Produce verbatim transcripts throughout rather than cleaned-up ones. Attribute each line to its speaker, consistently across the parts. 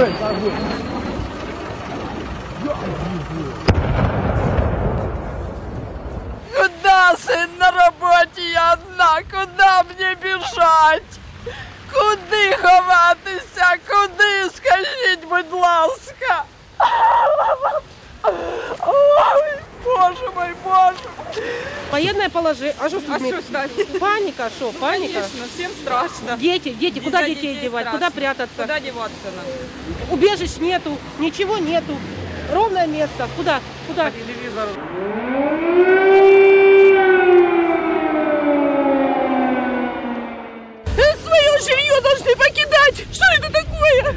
Speaker 1: Куда, сын, на работе я одна? Куда мне бежать? Куди ховатися? Куди? Скажіть, будь ласка. Ой, боже мой, боже.
Speaker 2: Военное положение. А что
Speaker 3: а что,
Speaker 2: паника, что? Паника?
Speaker 3: Конечно, всем страшно.
Speaker 2: Дети, дети, куда детей, детей девать?
Speaker 3: Страшно.
Speaker 2: Куда прятаться?
Speaker 3: Куда деваться нам?
Speaker 2: Убежищ нету, ничего нету. Ровное место. Куда? Куда?
Speaker 3: По телевизору.
Speaker 2: Свое жилье должны покидать! Что это такое?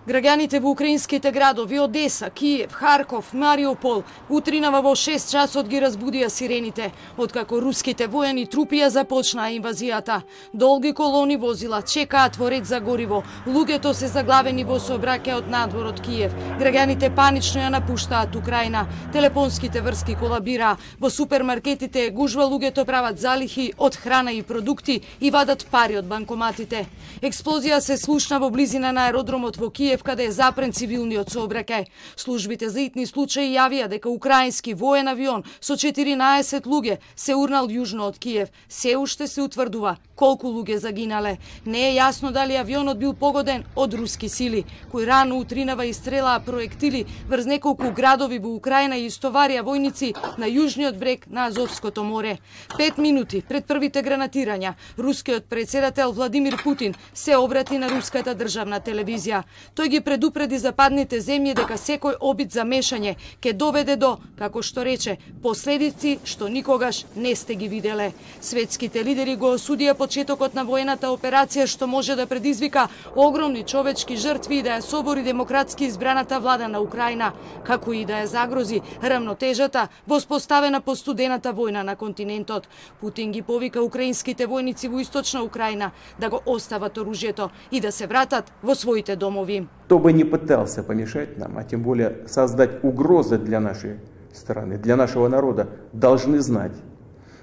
Speaker 4: Граѓаните во украинските градови Одеса, Киев, Харков, Мариупол утринава во шест часот ги разбудија сирените, откако руските војани трупија започнаа инвазијата. Долги колони возила чекаат во ред за гориво, луѓето се заглавени во сообраќај од надвор од Киев. Граѓаните панично ја напуштаат Украина, телефонските врски колабираа, во супермаркетите гужва луѓето прават залихи од храна и продукти и вадат пари од банкоматите. Експлозија се слушна во близина на аеродромот во Киев, каде е запрен цивилниот сообраќај. Службите за итни случаи јавија дека украински воен авион со четиринаесет луѓе се урнал јужно од Киев. Се уште се утврдува колку луѓе загинале. Не е јасно дали авионот бил погоден од руски сили, кои рано утринава истрелаа проектили врз неколку градови во Украина и истоварија војници на јужниот брег на Азовското море. Пет минути пред првите гранатирања, рускиот председател Владимир Путин се обрати на руската државна телевизија. Тој ги предупреди западните земји дека секој обид за мешање ќе доведе до, како што рече, последици што никогаш не сте ги виделе. Светските лидери го осудија почетокот на воената операција што може да предизвика огромни човечки жртви и да ја собори демократски избраната влада на Украина, како и да ја загрози равнотежата воспоставена по студената војна на континентот. Путин ги повика украинските војници во источна Украина да го остават оружјето и да се вратат во своите домови.
Speaker 5: Кто бы ни пытался помешать нам, а тем более создать угрозы для нашей страны, для нашего народа, должны знать,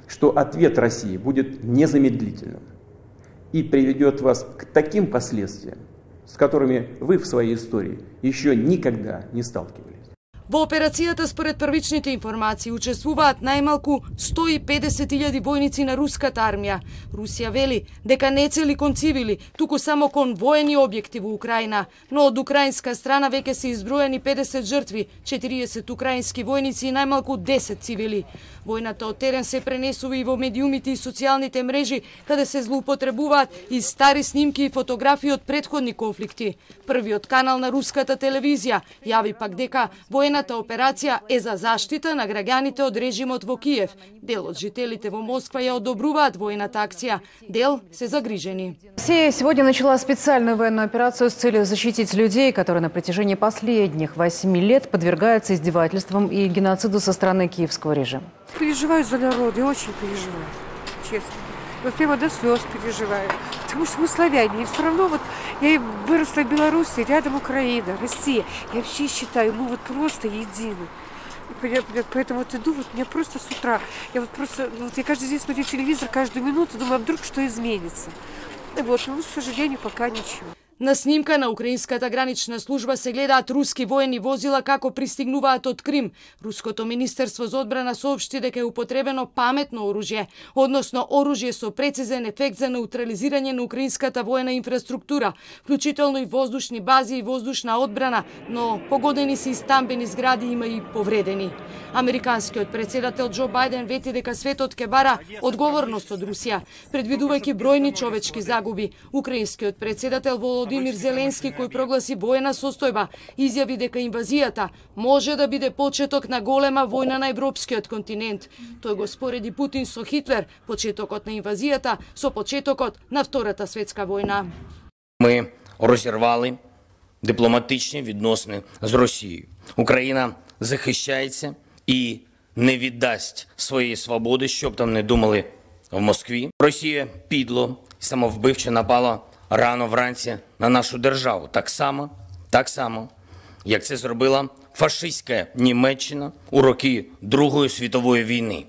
Speaker 5: что ответ России будет незамедлительным и приведет вас к таким последствиям, с которыми вы в своей истории еще никогда не сталкивались.
Speaker 4: Во операцијата според првичните информации учествуваат најмалку сто и педесет илјади војници на руската армија. Русија вели дека не цели кон цивили, туку само кон воени објекти во Украина, но од украинска страна веќе се изброени педесет жртви, четириесет украински војници и најмалку десет цивили. Војната од терен се пренесува и во медиумите и социјалните мрежи, каде се злоупотребуваат и стари снимки и фотографии од претходни конфликти. Првиот канал на руската телевизија јави пак дека војната операција е за заштита на граѓаните од режимот во Киев. Дел од жителите во Москва ја одобруваат војната акција, дел се загрижени.
Speaker 6: Россия сегодня начала специальную военную операцию с целью защитить людей, которые на протяжении последних восьми лет подвергаются издевательствам и геноциду со стороны киевского режима.
Speaker 7: Переживаю за народ, я очень переживаю, честно. Вот прямо до слез переживаю, потому что мы славяне, и все равно вот я выросла в Беларуси, рядом Украина, Россия. Я вообще считаю, мы вот просто едины. Поэтому вот иду, вот меня просто с утра, я вот просто, вот я каждый день смотрю телевизор, каждую минуту, думаю, а вдруг что изменится. И вот, ну, к сожалению, пока ничего.
Speaker 4: На снимка на украинската гранична служба се гледаат руски воени возила како пристигнуваат од Крим. Руското министерство за одбрана соопшти дека е употребено паметно оружје, односно оружје со прецизен ефект за неутрализирање на украинската воена инфраструктура, вклучително и воздушни бази и воздушна одбрана, но погодени се и стамбени згради, има и повредени. Американскиот председател Џо Бајден вети дека светот ќе бара одговорност од Русија, предвидувајќи бројни човечки загуби. Украинскиот председател Володимир Зеленски, кој прогласи воена состојба, изјави дека инвазијата може да биде почеток на голема војна на европскиот континент. Тој го спореди Путин со Хитлер, почетокот на инвазијата со почетокот на Втората светска војна.
Speaker 8: Ми розірвали дипломатичні відносини з Росією. Україна захищається і не віддасть своєї свободи, щоб там не думали в Москві. Росія підло і самовбивче напала рано вранці на нашу державу. Так само, так само, як це зробила фашистська Німеччина у роки Другої світової війни.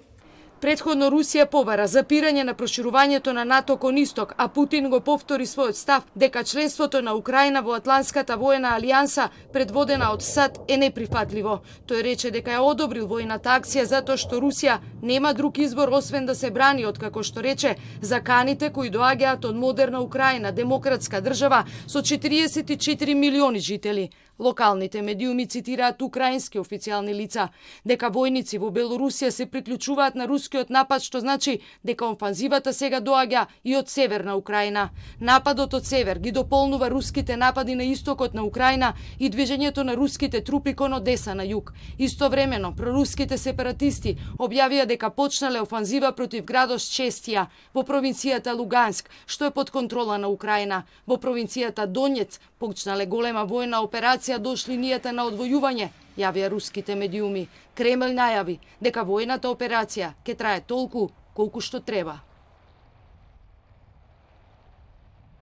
Speaker 4: Предходно Русија побара запирање на проширувањето на НАТО кон исток, а Путин го повтори својот став дека членството на Украина во Атлантската воена алијанса предводена од САД е неприфатливо. Тој рече дека ја одобрил војната акција затоа што Русија нема друг избор освен да се брани од, како што рече, заканите кои доаѓаат од модерна Украина, демократска држава со четириесет и четири милиони жители. Локалните медиуми цитираат украински официјални лица дека војници во Белорусија се приклучуваат на рускиот напад, што значи дека офанзивата сега доаѓа и од северна Украина. Нападот од север ги дополнува руските напади на истокот на Украина и движењето на руските трупи кон Одеса на југ. Истовремено, проруските сепаратисти објавија дека почнале офанзива против градот Честија во провинцијата Луганск, што е под контрола на Украина. Во провинцијата Донец почнале голема војна операција дошли линијата на одвојување, јавија руските медиуми. Кремљ најави дека војната операција ќе трае толку колку што треба.